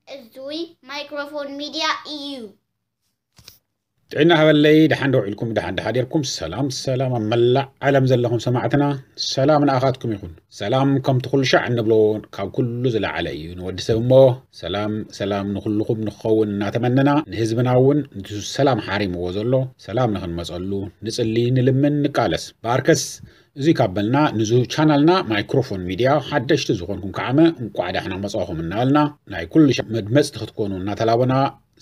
እዙይ ማይክሮፎን ሚድያ እዩ። ጥዕና ሃበለይ፣ ደሓን ዶ ውዒልኩም፣ ደሓን ዶ ሓዲርኩም? ሰላም ሰላም፣ ኣብ መላእ ዓለም ዘለኹም ሰማዕትና፣ ሰላም ንኣኻትኩም ይኹን። ሰላም ከምቲ ኩሉ ሻዕ እንብሎ ካብ ኩሉ ዝለዓለ እዩ ንወዲ ሰብ እሞ፣ ሰላም ሰላም ንኹልኹም ንኽኸውን እናተመነና፣ ንህዝብና እውን ንሱ ሰላም ሓሪምዎ ዘሎ ሰላም ንኽንመፀሉ ንፅሊ፣ ንልምን፣ ንቃለስ። በኣርከስ እዚ ካብ በልና ንዙ ቻናልና ማይክሮፎን ሚድያ ሓደሽቲ ዝኾንኩም ከዓመ እንቋዕ ዳሕና መጻኹም እናበልና ናይ ኩሉ ሻዕ መድመፅቲ ክትኮኑ እናተላበና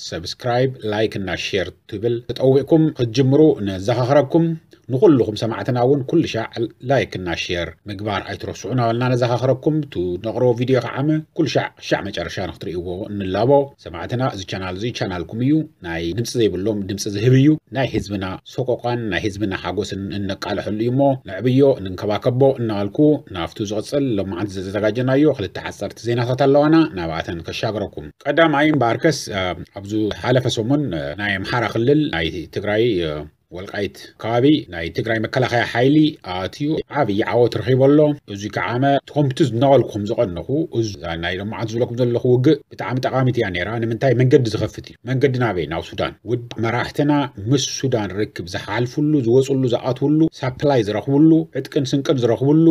ሰብስክራይብ፣ ላይክ እና ሼር ትብል ተጠዊቕኩም ክትጅምሩ ነዘኻኽረኩም። ንኹልኹም ሰማዕትና እውን ኩሉ ሻዕ ላይክ እና ሼር ምግባር ኣይትረስዑ እናበልና ነዘኻኽረኩም። ቱ ነቕርቦ ቪድዮ ከዓመ ኩሉ ሻዕ ሻዕ መጨረሻ ንክትርእይዎ እንላቦ። ሰማዕትና እዚ ቻናል እዚ ቻናልኩም እዩ። ናይ ድምፂ ዘይብሎም ድምፂ ዝህብ እዩ። ናይ ህዝብና ሰቆቃን ናይ ህዝብና ሓጎስን እነቃልሐሉ እዩ እሞ ነዕብዮ፣ ንንከባከቦ እናበልኩ ናብቱ ዝቕፅል ሎማዓንቲ ዘዘጋጀናዮ ክልተ ሓፀርቲ ዜናታት ኣለዋና ናብኣተን ከሻግረኩም። ቀዳማይ እምበኣርከስ፣ እ፣ ኣብዚ ሓለፈ ሰሙን፣ እ፣ ናይ ኣምሓራ ክልል ናይ ትግራይ፣ እ፣ ወልቃይት ከባቢ ናይ ትግራይ መከላኸያ ሓይሊ ኣትዩ ዓብዪ ዓወት ረኺቡ ኣሎ። እዚ ከዓመ ከምቲ ዝናበልኩም ዝቐነኹ፣ እዚ ናይ ሎማዓንቲ ዝብለኩም ዘለኹ ውግእ ብጣዕሚ ጠቓሚት እያ ነይራ። ንምንታይ? መንገዲ ዝኸፍት እዩ። መንገዲ ናበይ? ናብ ሱዳን። ውድ መራሕትና ምስ ሱዳን ርክብ ዝሓልፍሉ፣ ዝወፅሉ፣ ዝኣትውሉ፣ ሳፕላይ ዝረኽብሉ፣ ዕጥቅን ስንቅን ዝረኽብሉ፣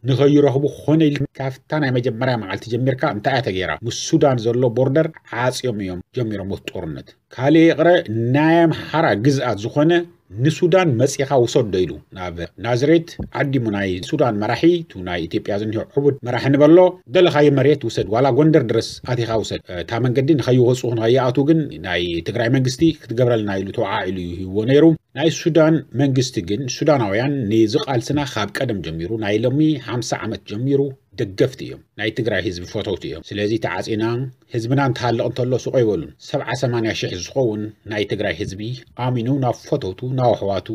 ንኸይረኽቡ ክኾነ ኢሉ ካብታ ናይ መጀመርያ መዓልቲ ጀሚርካ እንታይ እያ ተገይራ? ምስ ሱዳን ዘሎ ቦርደር ዓፅዮም እዮም ጀሚሮም እቲ ጦርነት። ካልእ ይቕረ፣ ናይ ኣምሓራ ግዝኣት ዝኾነ ንሱዳን መፂኻ ውሰዶ ኢሉ ናብ ናዝሬት ዓዲሙ ናይ ሱዳን መራሒ፣ ቱ ናይ ኢትዮጵያ ዝኒሆ ዕቡድ መራሒ ንበሎ፣ ደለኻዮ መሬት ውሰድ፣ ዋላ ጎንደር ድረስ ኣቲኻ ውሰድ። እታ መንገዲ ንኸይወፁ ንኸይኣትዉ ግን ናይ ትግራይ መንግስቲ ክትገብረልና ኢሉ ተወዓዒሉ እዩ ሂብዎ ነይሩ። ናይ ሱዳን መንግስቲ ግን ሱዳናውያን ንዚ ቃልስና ካብ ቀደም ጀሚሩ ናይ ሎሚ ሓምሳ ዓመት ጀሚሩ ደገፍቲ እዮም። ናይ ትግራይ ህዝቢ ፈተውቲ እዮም። ስለዚ ተዓፂና ህዝብና እንትሃልቕ እንተሎ ሱቕ ኣይበሉን። ሰብዓ ሰማንያ ሽሕ ዝኸውን ናይ ትግራይ ህዝቢ ኣሚኑ ናብ ፈተውቱ፣ ናብ ኣሕዋቱ፣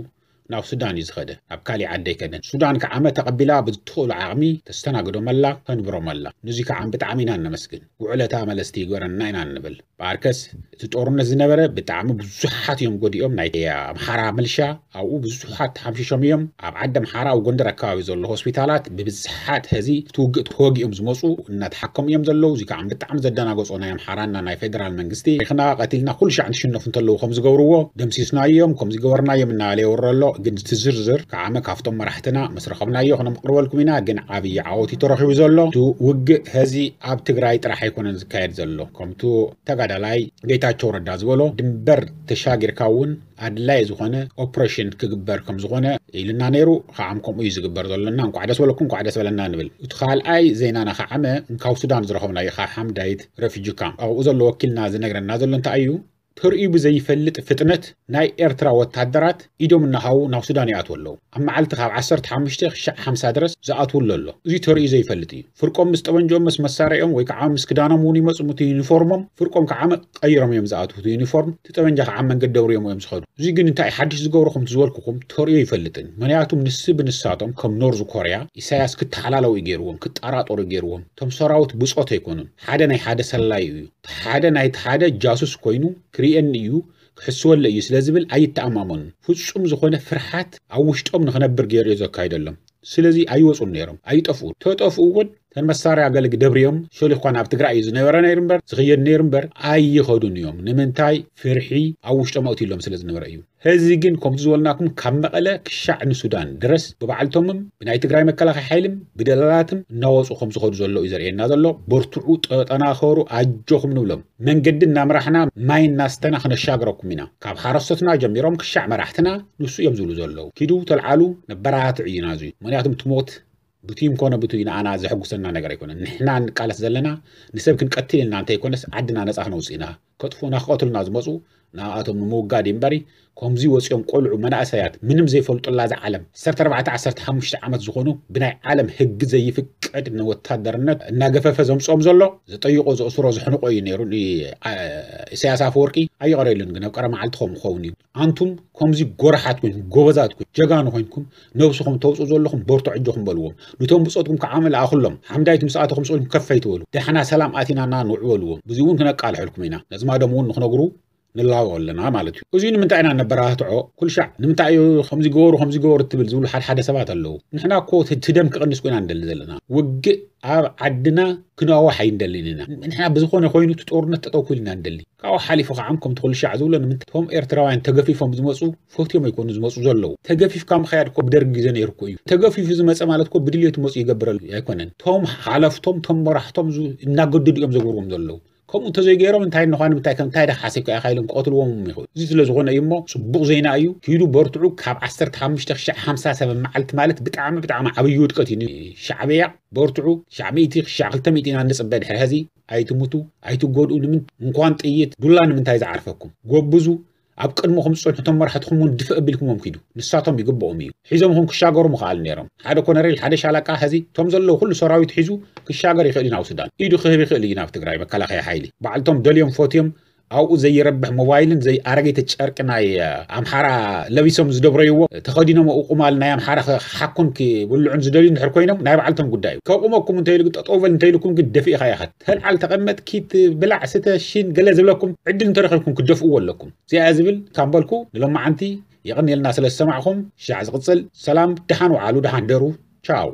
ናብ ሱዳን እዩ ዝኸደ። ናብ ካሊእ ዓዲ ኣይከደን። ሱዳን ከዓመ ተቐቢላ ብትኽእሉ ዓቕሚ ተስተናግዶም ኣላ፣ ተንብሮም ኣላ። ንዚ ከዓ ብጣዕሚ ኢና እነመስግን። ውዕለታ መለስቲ ይግበረና ኢና እንብል። በኣርከስ እቲ ጦርነት ዝነበረ ብጣዕሚ ብዙሓት እዮም ጎዲኦም። ናይ ኣምሓራ ምልሻ ኣብኡ ብዙሓት ተሓምሺሾም እዮም። ኣብ ዓዲ ኣምሓራ ኣብ ጎንደር ኣከባቢ ዘሎ ሆስፒታላት ብብዝሓት ሕዚ እቲ ውግእ ተወጊኦም ዝመፁ እናተሓከሙ እዮም ዘለዉ። እዚ ከዓ ብጣዕሚ ዘደናገፆ ናይ ኣምሓራና ናይ ፌደራል መንግስቲ፣ ታሪኽና ቀቲልና ኩሉ ሻዕ እንትሽነፉ እንተለዉ ከም ዝገብርዎ ደምሲስናዮም፣ ከም ዝገበርናዮም እናበለ የውርዶ ኣሎ። ግን እቲ ዝርዝር ከዓመ ካብቶም መራሕትና ምስ ረኸብናዮ ክነምቅርበልኩም ኢና። ግን ዓብዪ ዓወት እዩ ተረኺቡ ዘሎ። እቲ ውግእ ሕዚ ኣብ ትግራይ ጥራሕ ኣይኮነን ዝካየድ ዘሎ። ከምቱ ተጋዳላይ ጌታቸው ረዳ ዝበሎ ድንበር ተሻጊርካ እውን ኣድላይ ዝኾነ ኦፕሬሽን ክግበር ከም ዝኾነ ኢልና ነይሩ። ከዓም ከምኡ እዩ ዝግበር ዘሎና። እንኳዕ ደስ በለኩም፣ እንኳዕ ደስ በለና ንብል። እቲ ካልኣይ ዜናና ከዓመ ካብ ሱዳን ዝረኸብናዮ ካብ ሓምዳይት ረፊጂ ካምፕ ኣብኡ ዘሎ ወኪልና ዝነግረና ዘሎ እንታይ እዩ? ተርእዩ ብዘይፈልጥ ፍጥነት ናይ ኤርትራ ወታደራት ኢዶም እናሃቡ ናብ ሱዳን ይኣትዉ ኣለዉ። ኣብ መዓልቲ ካብ ዓሰርተ ሓሙሽተ ክሻዕ ሓምሳ ድረስ ዝኣትዉ ኣሎ ኣሎ። እዚ ተርእዩ ዘይፈልጥ እዩ። ፍርቆም ምስ ጠበንጅኦም ምስ መሳርያኦም ወይ ከዓ ምስ ክዳኖም እውን ይመፁ፣ እቲ ዩኒፎርሞም ፍርቆም ከዓ ቀይሮም እዮም ዝኣትዉ። እቲ ዩኒፎርም እቲ ጠበንጃ ከዓ መንገዲ ደብርዮም እዮም ዝኸዱ። እዚ ግን እንታይ ሓድሽ ዝገብሮ? ከምቲ ዝበልኩኹም ተርእዮ ይፈልጥን። ምክንያቱም ንስ ብንሳቶም ከም ኖርዝ ኮርያ ኢሳያስ ክተሓላለዉ እዩ ገይርዎም፣ ክጠራጠሩ እዩ ገይርዎም። እቶም ሰራዊት ብፆት ኣይኮኑን። ሓደ ናይ ሓደ ሰላዩ እዩ። ሓደ ናይቲ ሓደ ጃሱስ ኮይኑ ክርእየኒ እዩ፣ ክሕስወለ እዩ ስለ ዝብል ኣይተኣማመኑን። ፍጹም ዝኾነ ፍርሓት ኣብ ውሽጦም ንኽነብር ገይሩ እዩ ዘካይደሎም። ስለዚ ኣይወፁን ነይሮም፣ ኣይጠፍኡን። ተጠፍኡ እውን ተን መሳርያ ገለ ደብርዮም ሸሊኽኳ ናብ ትግራይ እዩ ዝነበረ ነይሩ እምበር፣ ዝኽየድ ነይሩ እምበር ኣይኸዱን እዮም። ንምንታይ? ፍርሒ ኣብ ውሽጦም ኣእትዩሎም ስለ ዝነበረ እዩ። ሕዚ ግን ከምቲ ዝበልናኩም ካብ መቐለ ክሻዕ ንሱዳን ድረስ ብባዕልቶምም ብናይ ትግራይ መከላኸያ ሓይልም ብደላላትም እናወፁ ከም ዝኸዱ ዘሎ እዩ ዘርእየና ዘሎ። በርትዑ፣ ጠጠናኸሩ፣ ኣጆኹም ንብሎም። መንገዲ እናምራሕና ማይ እናስተና ክነሻግረኩም ኢና። ካብ ሓረስቶትና ጀሚሮም ክሻዕ መራሕትና ንሱ እዮም ዝብሉ ዘለዉ። ኪዱ ተልዓሉ፣ ነበራትዕ እዩ ናዙ። ምክንያቱም ትሞት ብትዩም ኮነ ብትዩ ንኣና ዘሐጉሰና ነገር ኣይኮነን። ንሕና ንቃለስ ዘለና ንሰብ ክንቀትል ኢልና እንተይኮነስ ዓድና ነፃ ክነውፅእ ኢና። ከጥፉና ክቐትሉና ዝመፁ ንኣቶም ንምውጋድ እዩ እምበሪ፣ ከምዚ ወፂኦም ቆልዑ መናእሰያት ምንም ዘይፈልጡላ እዛ ዓለም ዓሰርተ ኣርባዕተ ዓሰርተ ሓሙሽተ ዓመት ዝኾኑ ብናይ ዓለም ህጊ ዘይፍቀድ ንወታደርነት እናገፈፈ ዘምፅኦም ዘሎ ዝጠይቆ ዘእስሮ ዝሕንቆ እዩ ነይሩ። ን-፣ አ-፣ ኢሳያስ ኣፈወርቂ ኣይቐረሉን ግን ኣብ ቀረ መዓልቲ ከም ክኸውን እዩ። ኣንቱም ከምዚ ጎረሓት ኮይንኩም፣ ጎበዛት ኮይንኩም፣ ጀጋኑ ኮይንኩም ነብስኹም ተውፅኡ ዘለኹም በርቱ፣ ዕጆኹም በልዎም። ንቶም ብፆትኩም ከዓ መልኣኹሎም። ሓምዳይት ምስ ኣተኹም ስቕ ኢልኩም ከፍ ኣይትበሉ። ደሕና ሰላም ኣቲናና ንውዕ በልዎም። ብዚ እውን ክነቃልሐልኩም ኢና። ነዝማዶም እውን ንክነግሩ ንላቦ ኣለና ማለት እዩ። እዚኡ ንምንታይ ኢና ነበራትዖ? ኩሉ ሻዕ ንምንታይ እዩ ከምዚ ገበሩ፣ ከምዚ ገበሩ ትብል ዝብሉ ሓደ ሓደ ሰባት ኣለዉ። ንሕና እኮ እቲ ደም ክቕንስ ኮይና ንደሊ ዘለና። ውግእ ኣብ ዓድና ክነዋሕ ኣይንደልን ኢና። ንሕና ብዝኾነ ኮይኑ እቲ ጦርነት ጠጠው ክብል ኢና ንደሊ። ካብኡ ሓሊፉ ከዓ ከምቲ ኩሉ ሻዕ ዝብሎ ንምንታይ እቶም ኤርትራውያን ተገፊፎም ዝመፁ ፈትዮም ኣይኮኑ ዝመፁ ዘለዉ። ተገፊፍካ ምኸያድ እኮ ብደርጊ ግዜ ነይሩ እኮ እዩ። ተገፊፉ ዝመፀ ማለት እኮ ብድልየቱ መፁ ይገብረሉ ኣይኮነን። እቶም ሓለፍቶም፣ እቶም መራሕቶም ዝ-፣ እናገደዱ እዮም ዘግብርዎም ዘለዉ። ከምኡ እንተዘይገይሮም እንታይ እንኳን ምንታይ ከም እንታይ ደሓሰብ ከኣ ኢሎም ክቐትልዎም ይኽእሉ። እዚ ስለ ዝኾነ እዩ እሞ ጽቡቕ ዜና እዩ። ኪዱ በርትዑ። ካብ ዓሰርተ ሓሙሽተ ክሻዕ ሓምሳ ሰብ መዓልቲ ማለት ብጣዕሚ ብጣዕሚ ዓብዪ ውድቀት እዩ። ሻዕብያ በርትዑ። ክሻዕ ሚእቲ ክሻዕ ክልተ ሚእቲ ኢና ንጽበ ድሕሪ ሕዚ። ኣይትሙቱ፣ ኣይትጎድኡ። ንምን እንኳን ጥይት ዱላ ንምንታይ ዝዓርፈኩም? ጎብዙ። ኣብ ቅድመኹም ዝጸንሑ እቶም መራሕትኹም እውን ድፍእ ኣቢልኩሞም ኪዱ። ንሳቶም ይግብኦም እዩ። ሒዞምኹም ክሻገሩ ምኽኣል ነይሮም። ሓደ ኮነሬል፣ ሓደ ሻለቃ፣ ሕዚ እቶም ዘለዉ ኩሉ ሰራዊት ሒዙ ክሻገር ይኽእል እዩ ናብ ሱዳን። ኢዱ ክህብ ይኽእል እዩ ናብ ትግራይ መከላኸያ ሓይሊ። ባዕልቶም ደልዮም ፈትዮም ኣብኡ ዘይረብሕ ሞባይልን ዘይ ኣረገይቲ ጨርቂ ናይ፣ እ፣ ኣምሓራ ለቢሶም ዝደብረይዎ ተኸዲኖም ኣብኡ ቁማል ናይ ኣምሓራ ክሓኩን ክብልዑን ዝደልዩ እንድሕር ኮይኖም ናይ ባዕልቶም ጉዳይ እዩ። ከቑመኩም እንተኢሉ ግን ጠጠው በል እንተኢልኩም ግን ደፊእኻ ኢኻ። ተልዓል ተቐመጥ ኪት ብላዕ ስተ ሽን ገለ ዝብለኩም ዕድል እንተረኺብኩም ክደፍእዎ ኣለኩም። እዚኣ ዝብል ካብ በልኩ ንሎማዓንቲ የቐንየልና ስለ ዝሰማዕኹም። ሻዕ ዝቕጽል ሰላም፣ ደሓን ወዓሉ፣ ደሓን ደሩ። ቻው።